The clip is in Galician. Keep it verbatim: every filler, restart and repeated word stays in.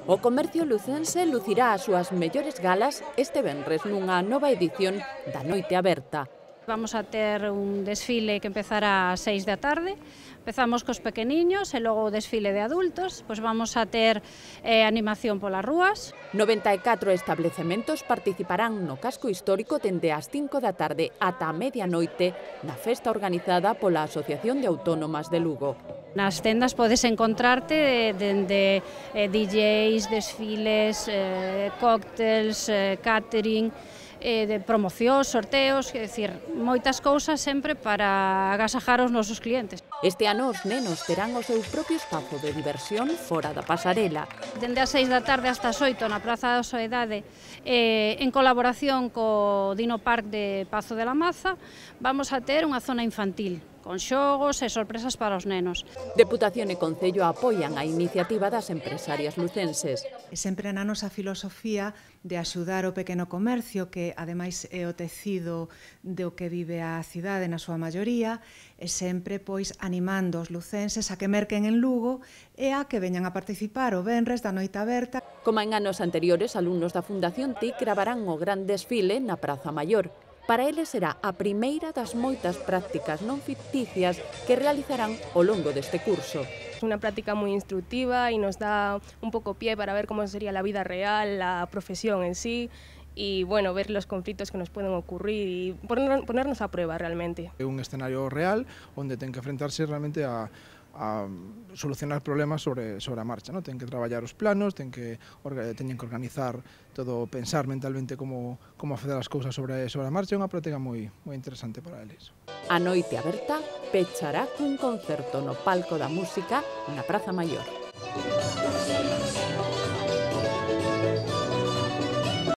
O comercio lucense lucirá as súas mellores galas este venres nunha nova edición da Noite Aberta. Vamos a ter un desfile que empezará ás seis da tarde. Empezamos cos pequeniños e logo o desfile de adultos. Pois vamos a ter eh, animación polas rúas. noventa e catro establecementos participarán no casco histórico dende as cinco da tarde ata a medianoite na festa organizada pola Asociación de Autónomas de Lugo. Nas tendas podes encontrarte dende eh, D Js, desfiles, eh, cócteles, eh, catering, eh, de promocións, sorteos, é dicir, moitas cousas sempre para agasajar os nosos clientes. Este ano os nenos terán o seu propio espazo de diversión fora da pasarela. Dende as seis da tarde hasta as oito na Praza da Soedade, eh, en colaboración co Dino Park de Pazo de la Maza, vamos a ter unha zona infantil, con xogos e sorpresas para os nenos. Deputación e Concello apoian a iniciativa das empresarias lucenses. E sempre na nosa filosofía de axudar o pequeno comercio, que ademais é o tecido do que vive a cidade na súa maioría, e sempre pois animando os lucenses a que merquen en Lugo e a que veñan a participar o venres da Noite Aberta. Como en anos anteriores, alumnos da Fundación T I C gravarán o gran desfile na Praza Maior. Para eles será a primeira das moitas prácticas non ficticias que realizarán ao longo deste curso. Es una práctica muy instructiva y nos da un poco pie para ver cómo sería la vida real, la profesión en sí y bueno, ver los conflictos que nos pueden ocurrir y poner, ponernos a prueba realmente. É un escenario real onde ten que enfrentarse realmente a a solucionar problemas sobre, sobre a marcha, ¿no? Ten que traballar os planos, ten que, teñen que organizar todo, pensar mentalmente como, como facer as cousas sobre, sobre a marcha. É unha práctica moi, moi interesante para eles. A Noite Aberta pechará cun concerto no palco da música na Praza Maior.